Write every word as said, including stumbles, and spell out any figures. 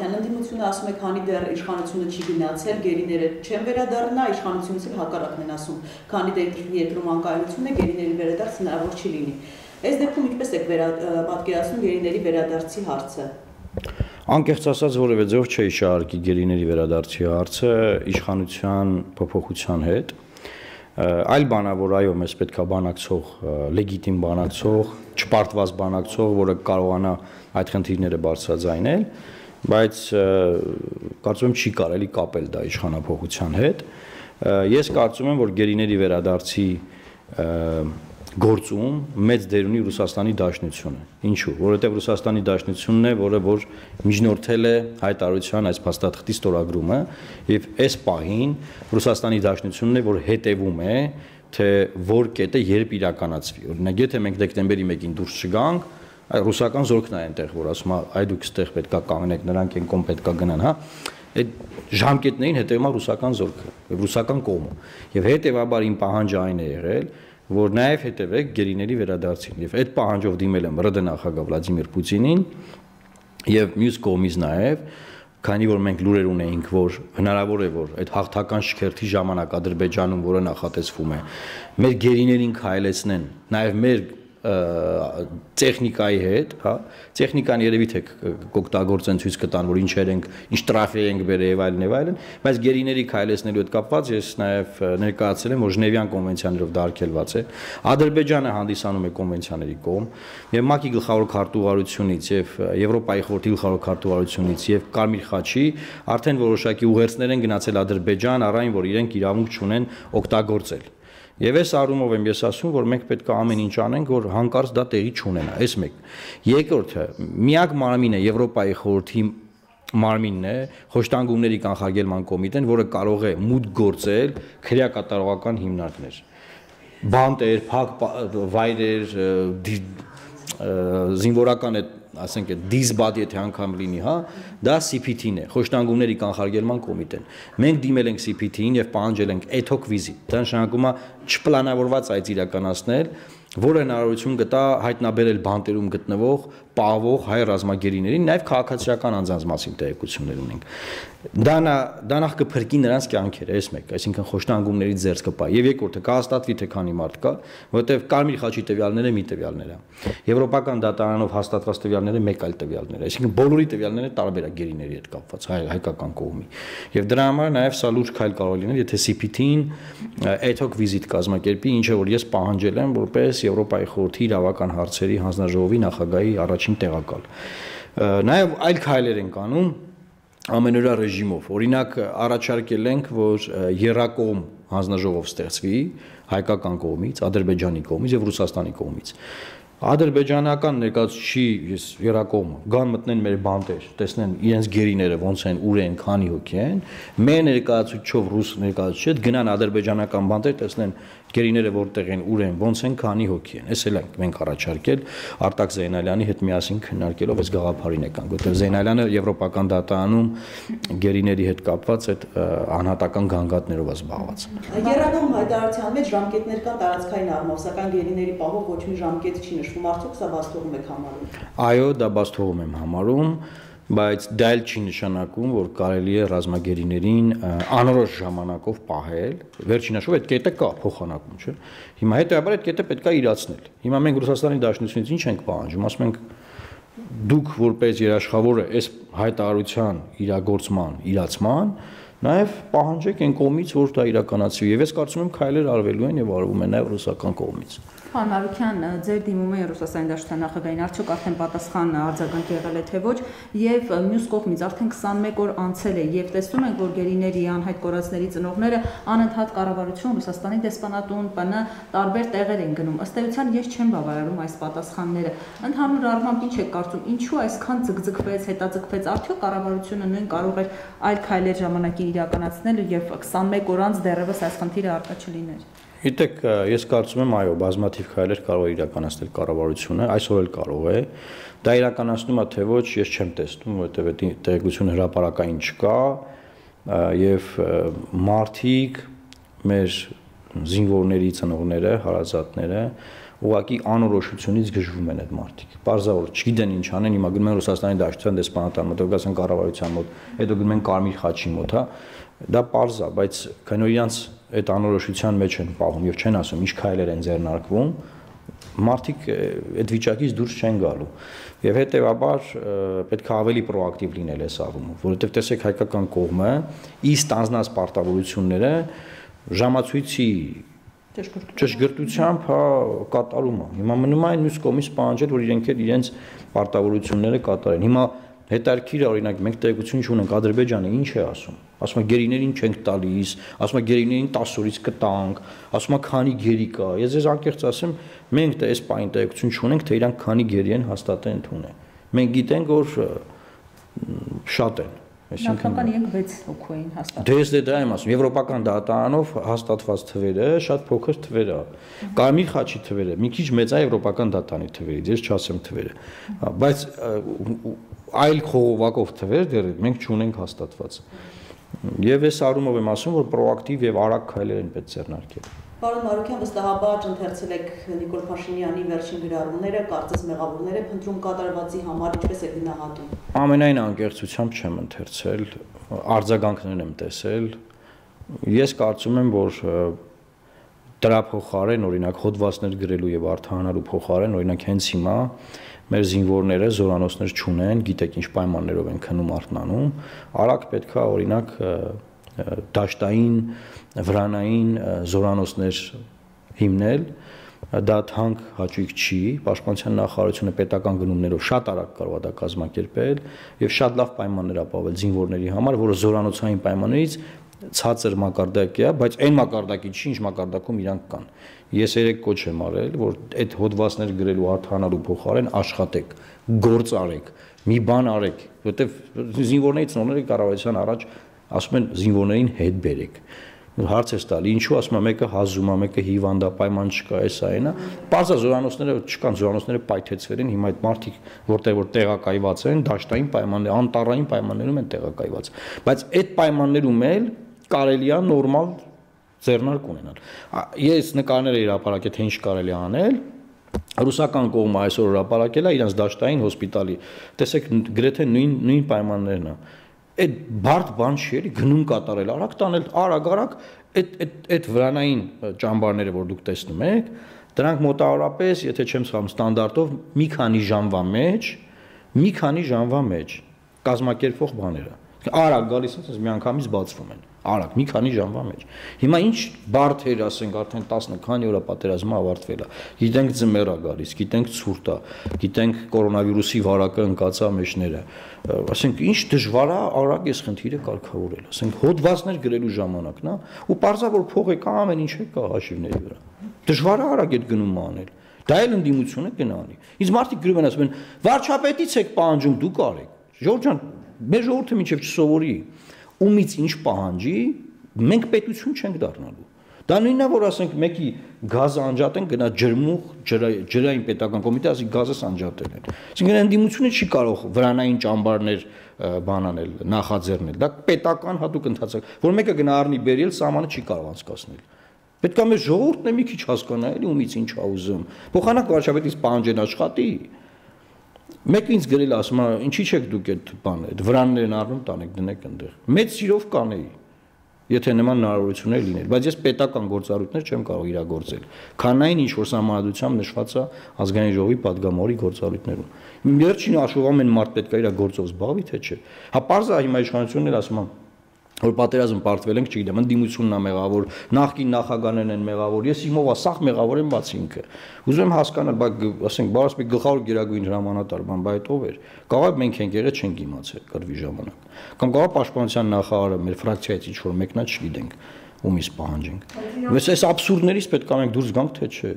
Ընդդիմությունը ասում է, քանի դեռ իշխանությունը չի գնացել, գերիները չեն վերադառնա, իշխանությունից էլ հակառակն են ասում, քանի դեռ երկրում անկայունություն է, գերիների վերադարձ հնարավոր չի լինի։ Այս դեպքում ինչպես եք պատկերացնում գերիների վերադարձի հարցը։ Անկեղծ ասած որևէ ձև չէի շարքի գերիների վերադարձի հարցը իշխանության փոփոխության հետ։ Այլ բանա, որ այո, մեզ պետք է բանակցող, լեգիտիմ բանակցող, չպարտված բանակցող, որը կարողանա այդ խնդիրները բարձրաձայնել, բայց կարծում եմ չի կարելի կապել դա իշխանափոխության հետ։ Ես կարծում եմ, որ գերիների վերադարձի գործում մեծ դեր ունի Ռուսաստանի Դաշնությունը։ Ինչու՞, որովհետև Ռուսաստանի Դաշնությունն է, որը որ միջնորդել է հայտարարության այս փաստաթղթի ստորագրումը, եւ այս պահին Ռուսաստանի Դաշնությունն է, որ հետևում է, թե որ կետը երբ իրականացվի։ Օրինակ, եթե մենք դեկտեմբերի մեկին դուրս չգանք, ռուսական զորքն է այնտեղ, որ ասում է, այ դուք ստեղ պետքա կանգնեք, նրանք են կողմ պետքա գնան, հա։ Այդ ժամկետներին հետևում է ռուսական զորքը, եւ ռուսական կողմը։ Եվ հետեւաբար իմ պահանջը այն է եղել, որ նաև հետևեք գերիների վերադարձին եւ այդ պահանջով դիմել եմ ՌԴ նախագահ Վլադիմիր Պուտինին եւ մյուս կողմից նաև քանի որ մենք լուրեր ունեինք որ հնարավոր է որ այդ հաղթական շքերթի ժամանակ Ադրբեջանում որը նախատեսվում է մեր գերիներին քայլեցնեն նաև մեր տեխնիկայի հետ, հա, տեխնիկան երևի թե կօգտագործեն ցույց կտան, որ ինչեր ենք, ինչ տրաֆիկ ենք բերել եւ այլն եւ այլն, բայց գերիների քայլեցնելու հետ կապված ես նաեւ ներկայացրել եմ, որ Ժնևյան կոնվենցիաներով դա արգելված է։ Ադրբեջանը հանդիսանում է կոնվենցիաների կողմ, եւ ՄԱԿ-ի գլխավոր քարտուղարությունից եւ Եվրոպայի խորհրդի գլխավոր քարտուղարությունից եւ Կարմիր խաչի արդեն որոշակի ուղերձներ են գնացել Ադրբեջան, առայն որ իրենք իրավունք չունեն օգտագործել։ Եվ այս առումով եմ ես ասում, որ մենք պետք է ամեն ինչ անենք, որ հանկարծ դա տեղի չունենա, այս մեկ։ Երկրորդը, միակ մարմինը Եվրոպայի խորհրդի մարմինն է, խոշտանգումների կանխարգելման կոմիտեն, որը կարող է մուտք գործել քրեակատարողական հիմնարկներ։ Բանտեր, փակ վայրեր, զինվորական է ասենք դիզբադ եթե անգամ լինի, հա, դա C P T-ն է, խոշտանգումների կանխարգելման կոմիտեն։ Մենք դիմել ենք C P T-ին եւ պահանջել ենք ad hoc visit։ Դա նշանակում է չպլանավորված այդ իրականացնել, որը հնարավորություն կտա հայտնաբերել բանտերում գտնվող պահվող հայ ռազմագերիներին, նաև քաղաքացիական անձանց մասին տեղեկություններ ունենք։ Դա դա նախ կփրկի նրանց կյանքերը, այս մեկ, այսինքն խոշտանգումների ձեռք կպա։ Եվ երկրորդը կհաստատվի թե քանի մարդ կա, որովհետև Կարմիր խաչի տվյալները մի տվյալներ է։ Եվրոպական դատարանով հաստատված տվյալները մեկ այլ տվյալներ է, այսինքն բոլորի տվյալները տարբեր է գերիների հետ կապված, հայ հայկական կողմի։ Եվ դրա համար նաև սա լուրջ քայլ կարող լինել, եթե C P T-ին ad hoc visit կազմակերպի, ինչը որ ես պահանջել եմ, որպես Եվրոպայի խորհրդի իրավական հարցերի հանձնաժողովի նախագահի առաջին տեղակալ։ Նաև այլ քայլեր են կանում ամենօրյա ռեժիմով։ Օրինակ առաջարկել ենք, որ եռակողմ հանձնաժողով ստեղծվի հայկական կողմից, Ադրբեջանի կողմից եւ Ռուսաստանի կողմից։ Ադրբեջանական ներկայացուցիչի ես եռակողմ գան մտնեն մեր բանտեր, տեսնեն իրենց գերիները ոնց են, ուր են, քանի հոգի են, մեր ներկայացուցիչով ռուս ներկայացուցիչ գնան ադրբեջանական բանտեր, տեսնեն գերիները որտեղ են, ուր են, ոնց են, քանի հոգի են։ Էս էլ ենք մենք առաջարկել Արտակ Զեյնալյանի հետ միասին քննարկելով այս գաղափարին եկանք, որտեղ Զեյնալյանը եվրոպական դատարանում գերիների հետ կապված այդ անհատական գանգատներով է զբաղված։ Եռակողմ հայտարարության մեջ ժամկետներ կան տարածքային առումով, սակայն գերիների պահով ոչ մի ժամկետ չի նշվում, արդյոք սա բացթողում եք համարում։ Այո, դա բացթողում եմ համարում, բայց դա էլ չի նշանակում, որ կարելի է ռազմագերիներին անորոշ ժամանակով պահել։ Վերջին հաշվով այդ կետը կա փոխանակում, չէ՞։ Հիմա հետեւաբար այդ կետը պետք է իրացնել։ Հիմա մենք Ռուսաստանի Դաշնությունից ինչ ենք պահանջում, ասում ենք դուք որպես երաշխավորը այս հայտարարության իրագործման, իրացման նաև պահանջեք այն կողմից, որ դա իրականացվի։ Եվ ես կարծում եմ քայլեր արվելու են եւ արվում են նաև ռուսական կողմից։ Պարոն Մարուքյան, ձեր դիմումը Ռուսաստանի Դաշնության նախագահին արդյոք արդեն պատասխան արձագանք եղել է թե ոչ, եւ մյուս կողմից արդեն քսանմեկ օր անցել է եւ տեսնում ենք, որ գերիների անհայտ կորածների ծնողները անընդհատ կառավարություն, Ռուսաստանի դեսպանատուն, P N տարբեր տեղեր են գնում։ Ըստ էության ես չեմ բավարարում այս պատասխանները։ Ընդհանուր առմամբ ինչ եք կարծում, ինչու այսքան ձգձգվեց, հետաձգվեց, արդյոք կառավարությունը նույն կարող էր այլ քայլեր ժամանակին իրականացնել եւ քսանմեկ օր անց դեռևս այս խնդիրը առկա չլիներ։ Գիտեք, ես կարծում եմ, այո, բազմաթիվ քայլեր կարող է իրականացնել կառավարությունը, այսօր էլ կարող է։ Դա իրականացնում է թե ոչ, ես չեմ տեսնում, որովհետև այդ տեղեկությունը հրապարակային չկա եւ մարդիկ, մեր զինվորների ծնողները, հարազատները ուղղակի անորոշությունից գժվում են այդ մարդիկ։ Պարզավոր չգիտեն ինչ անեն, հիմա գնում են Ռուսաստանի Դաշնության դեսպանատան մոտ, Կովկասյան կառավարության մոտ, հետո գնում են Կարմիր խաչի մոտ, հա։ Դա պարզ է, բայց քանի որ իրանց այդ անորոշության մեջ են պահում եւ չեն ասում ինչ քայլեր են ձեռնարկվում, մարդիկ այդ վիճակից դուրս չեն գալու։ Եվ հետեւաբար պետք է ավելի պրոակտիվ լինել այս առումով, որովհետեւ տեսեք հայկական կողմը ի ստանձնած պարտավորությունները ժամացույցի ճշգրտությամբ հա կատարում է։ Հիմա մնում է այն մյուս կողմից պահանջել, որ իրենք էլ իրենց պարտավորությունները կատարեն։ Հիմա հետարքիր է, օրինակ մենք տեղեկություն չունենք Ադրբեջանը ինչ է ասում։ Ասում է գերիներին չենք տալիս, ասում է գերիներին տասը օրից կտանք, ասում է քանի գերի կա։ Ես ես անկեղծ ասեմ, մենք դա այս պայն տեղեկություն չունենք, թե իրանք քանի գերի են հաստատեն ընդունեն։ Մենք գիտենք, որ շատ են։ Նախնական իրենք վեց հոգու էին հաստատել։ Դե ես դա եմ ասում, եվրոպական դատարանով հաստատված թվերը շատ փոքր թվեր է։ Կարմիր խաչի թվերը մի քիչ մեծ է եվրոպական դատարանի թվերից, ես չասեմ թվերը։ Բայց այլ խողովակով թվեր դեռ մենք չունենք հաստատված։ Եվ այս առումով եմ ասում, որ պրոակտիվ եւ արագ քայլեր են պետք ձեռնարկել։ Պարոն Մարուկյան, վստահաբար ընթերցել եք Նիկոլ Փաշինյանի վերջին գրառումները, կարծես մեղավորներ եք փնտրում կատարվածի համար, ինչպես եք գնահատում։ Ամենայն անկեղծությամբ չեմ ընթերցել, արձագանքներն եմ տեսել։ Ես կարծում եմ, որ դրա փոխարեն, օրինակ հոդվածներ գրելու եւ արտահանելու փոխարեն, օրինակ հենց հիմա մեր զինվորները զորանոցներ չունեն, գիտեք ինչ պայմաններով են քնում արթնանում, արագ պետք է օրինակ դաշտային, վրանային զորանոցներ հիմնել, դա թանկ հաճույք չի, Պաշտպանության նախարարությունը պետական գնումներով շատ արագ կարող է դա կազմակերպել եւ շատ լավ պայմաններ ապահովել զինվորների համար, որը զորանոցային պայմաններից ցածր մակարդակի է, բայց այն մակարդակի չի, ինչ մակարդակում իրանք կան։ Ես երեք կոչ եմ արել, որ այդ հոդվածներ գրելու արտահանելու փոխարեն աշխատեք, գործ արեք, մի բան արեք, որովհետեւ զինվորների ծնողները կառավարության առաջ ասում են զինվորներին հետ բերեք։ Հարց է տալի, ինչու ասում է մեկը հազում է, մեկը հիվանդ է, պայման չկա, էսա այնա։ Պարզա զորանոցները չկան, զորանոցները պայթեցվել են, հիմա այդ մարդիկ որտեղ որ տեղակայված են, դաշտային պայմաններ, անտառային պայմաններում են տեղակայված։ Բայց այդ պայմաններում էլ կարելի է նորմալ ձեռնարկ ունենալ։ Ես նկարներ եմ հրապարակել, թե ինչ կարելի է անել։ Ռուսական կողմը այսօր հրապարակել է իրենց դաշտային հոսպիտալի։ Տեսեք, գրեթե նույն նույն պայմաններն է։ Այդ բարդ բան չի էլի գնում կատարել, արագ տանել, արագ-արագ այդ այդ այդ վրանային ճամբարները, որ դուք տեսնում եք, դրանք մոտավորապես, եթե չեմ սխալվում, ստանդարտով մի քանի ժամվա մեջ, մի քանի ժամվա մեջ կազմակերպվող բաները։ Արագ գալիս են, միանգամից բացվում են։ Արագ, մի քանի ժամվա մեջ։ Հիմա ինչ բարդ էր, ասենք, արդեն տասը քանի օր պատերազմը ավարտվել է։ Գիտենք ձմեռ է գալիս, գիտենք ցուրտ է, գիտենք կորոնավիրուսի վարակը ընկածա մեջները։ Ասենք, ինչ դժվար է արագ այս խնդիրը կարգավորել։ Ասենք, հոդվածներ գրելու ժամանակն է, ու պարզա որ փող է կա, ամեն ինչ է կա հաշիվների վրա։ Դժվար է արագ այդ գնումը անել։ Դա էլ ընդդիմությունը կնանի։ Իսկ մարդիկ գրում են ասում են, վարչապետից եք պահանջում, դուք արեք։ Ժողովուրդ ջան, մեր ժողովուրդը մինչև չսովորի ումից ինչ պահանջի, մենք պետություն չենք դառնալու։ Դա նույնն է, որ ասենք մեկի գազը անջատեն, գնա ջրմուղ, ջրային պետական կոմիտե, ասի գազս անջատել են։ Այսինքն ընդդիմությունը չի կարող վրանային ճամբարներ բանանել, նախաձեռնել։ Դա պետական հատուկ ընթացք, որ մեկը գնա առնի բերել, սահմանը չի կարող անցկացնել։ Պետք է մեր ժողովուրդն է մի քիչ հասկանա, էլի ումից ինչ ա ուզում։ Փոխանակ վարչապետից պահանջեն աշխատի։ Մեկը ինձ գրել ասում է, ինչի՞ չեք դուք այդ բանը, այդ վրաններն առնում տանեք, դնեք այնտեղ։ Մեծ սիրով կանեի, եթե նման հնարավորություններ լիներ, բայց ես պետական գործառույթներ չեմ կարող իրագործել։ Քանային ինչ որ համանդրությամբ նշված է ազգային ժողովի падգամավորի գործառույթներում։ Վերջին հաշվով ամեն մարդ պետք է իր գործով զբաղվի, թե չէ։ Հա պարզ է հիմա իշխանությունն էլ ասում է որ պատերազմ պարտվել ենք, չգիտեմ, ընդդիմությունն է մեղավոր, նախկին նախագահներն են մեղավոր, ես իմով ասախ մեղավոր եմ բաց ինքը։ Ուզում եմ հասկանալ, բայց ասենք, բարս մի գլխավոր գերագույն հրամանատար, բան, բայց ով էր։ Կարող մենք ենք եղել, չենք իմացել կռվի ժամանակ։ Կամ կարող պաշտպանության նախարարը մեր ֆրակցիայից ինչ որ մեկնա չգիտենք, ումից պահանջենք։ Բայց այս աբսուրդներից պետք է մենք դուրս գանք, թե չէ։